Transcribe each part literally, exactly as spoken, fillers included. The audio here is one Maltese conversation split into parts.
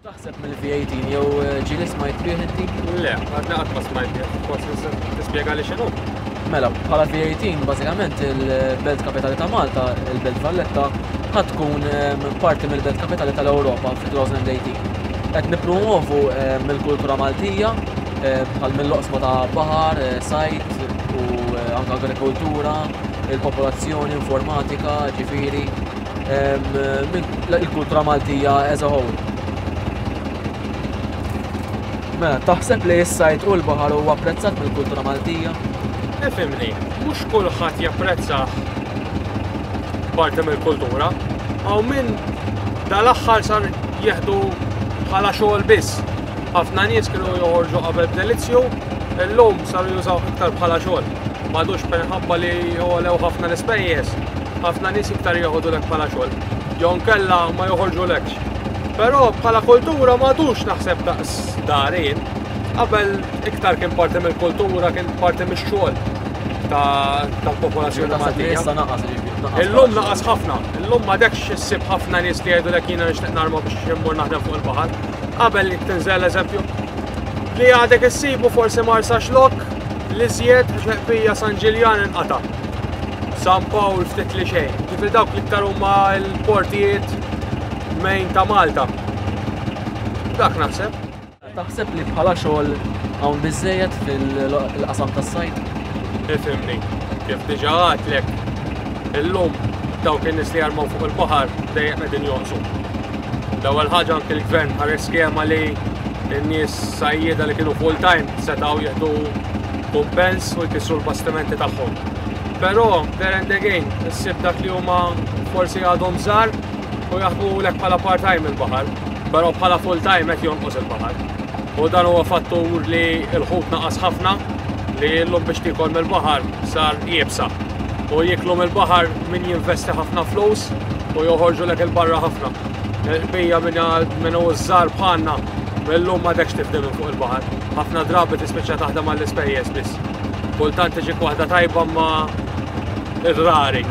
Taħseb mill-V eighteen jew eh, ġieli smajt bih inti? Le, għadna qatt ma smajt bih, forsi tispjega li x'inhu. Mela, bħala V eighteen, bażikament il-Belt Kapitali ta' Malta, il-Belt Valletta, ħa tkun em, parti mill-Belt Kapitali tal-Ewropa fi elfejn u tmintax. Qed nippromovu em, il-kultura Maltija eh, bħal mill-oqsma ta' baħar, eh, sajd u eh, anke agrikoltura, il-popolazzjoni, informatika, ġifieri, em, minn- il-kultura Maltija as a whole. Mela, taħseb li s-sajd u l-baħar huwa apprezzat mill-kultura Maltija? Ifhimni, mhux kulħadd japprezza parti mill-kultura. Hawn min dal-aħħar sar jieħdu bħala xogħol biss. Ħafna nies kienu joħorġu qabel b'delizzju, illum saru jużaw iktar bħala xogħol. M'għadux minħabba li jogħlew ħafna l-ispejjeż, ħafna nies iktar joħodulek bħala xogħol. Jew nkella ma joħorġulekx. Però bħala kultura m'għadux naħseb daqs darin. Qabel iktar kien parti mill-kultura, kien parti mix-xogħol ta' tal-popolazzjoni Taħseb li Maltija. issa naqas, ġifieri, naqas Illum bħala naqas ħafna, illum m'għadekx issib ħafna nies li jgħidulek jiena nixtieq narma biex immur naħdem fuq il-baħar. Qabel li tinżel, eżempju, li għadek issibu forsi Marsaxlokk, li żjed ġeqbija San Ġiljan inqata. San Pawl ftit li xejn. Ġifieri dawk l-iktar huma l-portijiet main ta' Malta. Dak naħseb. Taħseb li bħala xogħol hawn biżejjed fil-qasam tas-sajd? Ifhimni, kif diġà għedtlek, illum dawk in-nies li jarmaw fuq il-baħar dejjem qegħdin jonqsu. L-ewwel ħaġa, anke l-gvern ħareġ skema li n-nies sajjieda li kienu full time setgħu jieħdu kumpens u jkissru l-bastimenti tagħhom. Però there and again, issib dak li huma forsi għadhom żgħar u jaħdmulek bħala part-time il-baħar, però bħala full time qed jonqos il-baħar. U dan huwa fattur li l-ħut naqas ħafna, li llum biex tiekol mill-baħar sar iebsa. U jiklu mill-baħar min jinvesti ħafna flus u joħorġulek 'il barra ħafna. Bija minn minn hu żgħar bħalna millum m'għadekx tifdi minn fuq il-baħar. Ħafna drabi tispiċċa taħdem għall-ispejjeż biss. Kultant tiġik waħda tajba, ma rari.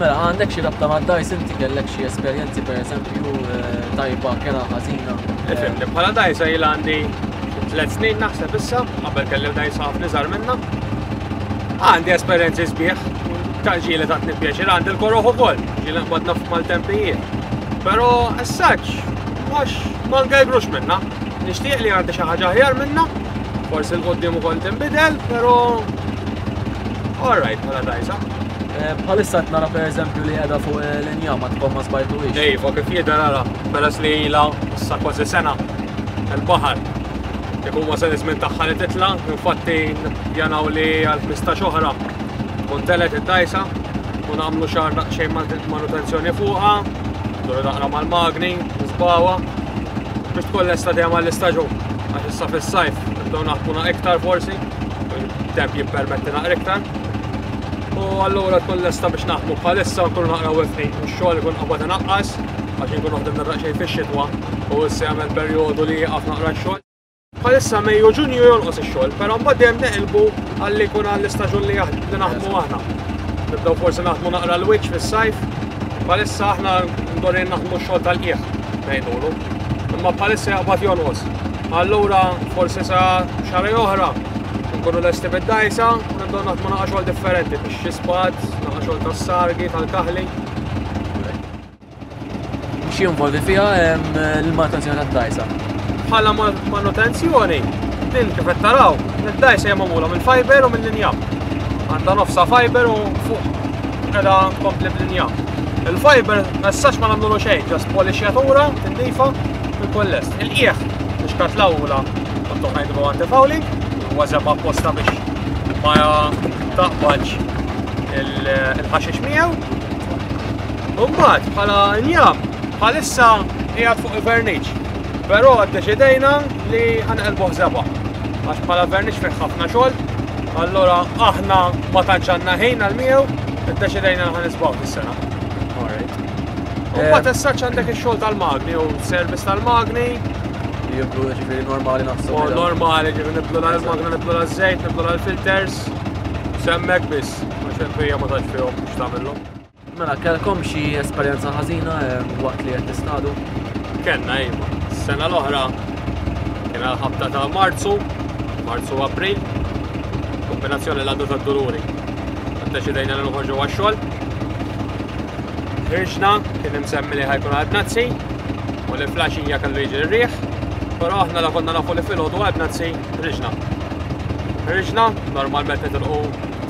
Mela, għandek xi rabta mad-dgħajs inti? Kellek xi esperjenzi, pereżempju, eh, tajba, kera, ħażina? Ifhimni, bħala dgħajsa ilha għandi tliet snin naħseb issa, qabel kelli dgħajsa ħafna iżgħar minna. Għandi esperjenzi sbieħ, ta' ġieli tatni pjaċir, għandi l-koroħ ukoll, ġieli nqbadna f'maltempijiet. Però as such, mhux ma ngajbrux minna. Nixtieq li għandi xi ħaġa aħjar minna, forsi 'l quddiem ukoll tinbidel, però alright bħala dgħajsa. Eh, Bħalissa qed nara, pereżempju, li qiegħda fuq eh, l-injam, għadkom ma żbajtuhiex. Iva, kif jidher ara, peress li ilha issa kważi sena il-baħar. Ikun wasal iż-żmien tagħha li titla', infatti nippjanaw li għal ħmistax oħra tkun telgħet id-dgħajsa u nagħmlu xahar daqsxejn manutenzjoni fuqha, nduru naqra mal-magni, nisbgħuha biex tkun lesta dejjem għall-istaġun. Għax issa fis-sajf nibdew naħdmu iktar forsi, il-temp jippermetti naqra iktar. U allura tkun lesta biex naħdmu. Bħalissa nkunu naqra wifni, u x-xogħol ikun qabad inaqqas għax inkunu ħdimna daqsxejn fix-xitwa u issa jagħmel perjodu li jieqaf naqra x-xogħol. Bħalissa Mejju, Ġunju jonqos ix-xogħol, però mbagħad dejjem neqilbu għalli jkun għall-istaġun li jaħ- li naħdmu aħna. Nibdew forsi naħdmu naqra l-wiċċ fis-sajf. Bħalissa aħna ndorin naħdmu x-xogħol tal-qiegħ ngħidulu. Imma bħalissa jaqbad jonqos. Allura forsi sa xahar oħra nkunu lesti bid-dgħajsa u nibdew naħdmu naqra xogħol differenti biex xi spad, naqra xogħol tas-sargi, tal-kaħli. X'jinvolvi fiha em, l-manutenzjoni tad-dgħajsa? Bħala ma- manutenzjoni, din kif qed taraw, id-dgħajsa hija magħmula mill-fiber u mill-injam. Għandha nofsa fiber u fuq qiegħda tkompli bl-injam. Il-fiber messax ma nagħmlu xejn, just polixjatura, tindifa, ikun lest. Il-qiegħ biex katlawla qottu ngħidu anti-fouling, huwa żebgħa apposta biex ma taqbadx il- il-ħaxix miegħu. U mbagħad bħala injam bħalissa qiegħed fuq il-verniċ. Però ddeċidejna li ħa nqelbuh żebgħa. Għax bħala verniċ fih ħafna xogħol, allura aħna ma tantx għandna ħin għal miegħu, iddeċidejna li ħa niżbgħu dis-sena. Alright. U mbagħad as such għandek ix-xogħol tal-magni u service tal-magni, Jibdu, ġifieri, normali naħseb. U normali, ġifieri nibdlu l-magna, nibdlu l-żejt, nibdlu l-filters, semmek biss, għax il-bija ma tantx fihom x'tagħmilhom. Mela, kellkom xi esperjenza ħażina em, waqt li qed tistadu? Kellna, iva. Sena l-oħra kien għal-ħabta ta' Marzu, Marzu u April, kombinazzjoni l-għaddu ta' Duluri. Deċidejna li noħorġu għax-xogħol. Ħriġna, kien imsemmi li ħa jkun għal bnazzi, u li filgħaxija kellu jiġi r-riħ, però aħna la konna nafu li filgħodu għal bnazzi, ħriġna. Ħriġna, normalment nitilqu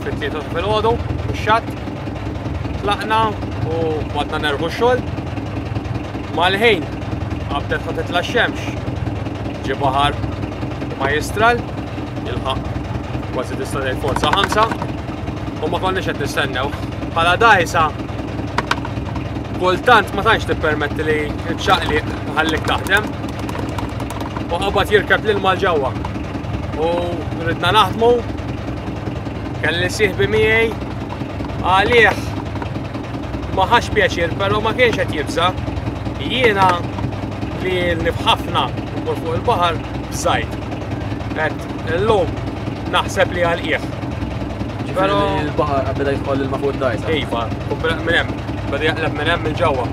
fit-tlieta filgħodu, mix-xatt. Tlaqna u bdejna nerħu x-xogħol. Mal-ħin qabdet ħa titla' x-xemx. Ġie baħar majjistral, jilħaq kważi tista' tgħid forza ħamsa, u ma konniex qed nistennew. Bħala dgħajsa kultant ma tantx tippermetti li ċ-ċaqliq ħallik taħdem. U qabad jirkeb l-ilma ġewwa. U ridna naħdmu, kelli sieħbi miegħi għalih ma ħax pjaċir, però ma kienx qed jibża. Jiena li nifħafna mmur fuq il-baħar bżajt. Qed illum naħseb li għal qiegħ. Ġifieri il-baħar beda jidħol l-ilma fuq id-dgħajsa. Iva, minn hemm, beda jaqleb minn hemm il-ġewwa.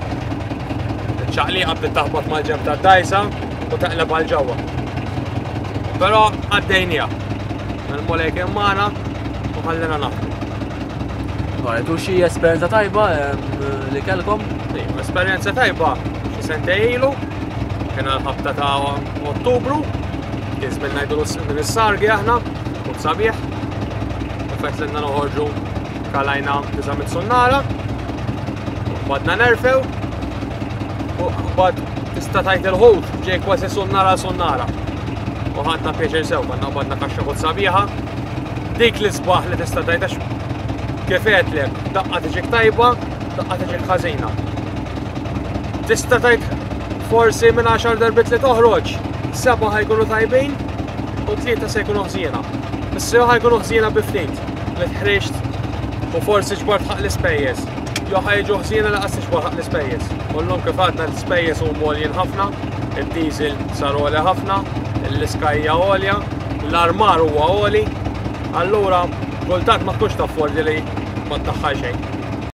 Iċ-ċaqliqa bdiet taħbot mal-ġenb tad-dgħajsa u taqleb għal ġewwa. Però għaddejniha. Il-Mulej kien magħna u ħallina naħdmu. Alright, u xi esperjenza tajba em, li kellkom? Iva, esperjenza tajba xi sentejn ilu, kien għal-ħabta ta' Ottubru, kien żmien ngħidu minn is-sargi aħna, u sabiħ. Fett l noħorġu kalajna disa' mitt sunnara, bdejna nerfgħu, u bad tista' tgħid il-ħut ġej kważi sunnara sunnara. U ħadna pjaċir sew, konna bdejna kaxxa ħut sabiħa. Dik li sbaħ li tista' tgħid għax kif għedtlek, daqqa tiġik tajba, daqqa tiġik ħażina. Tista' tgħid forsi minn għaxar darbit li toħroġ, seba' ħa jkunu tajbin u tlieta se jkunu ħżiena. Issa ħa jkunu ħżiena bi ftit li tħriġt u forsi ġbart ħaq l-ispejjeż. Jew ħa jiġu ħżiena lanqas tiġbor ħaq l-ispejjeż. U llum kif għadna l-ispejjeż huma għoljin ħafna, id-diesel sar għoli ħafna, l-iska hija għolja, l-armar huwa għoli, allura kultant ma tkunx taffordi li ma tdaħħal xejn.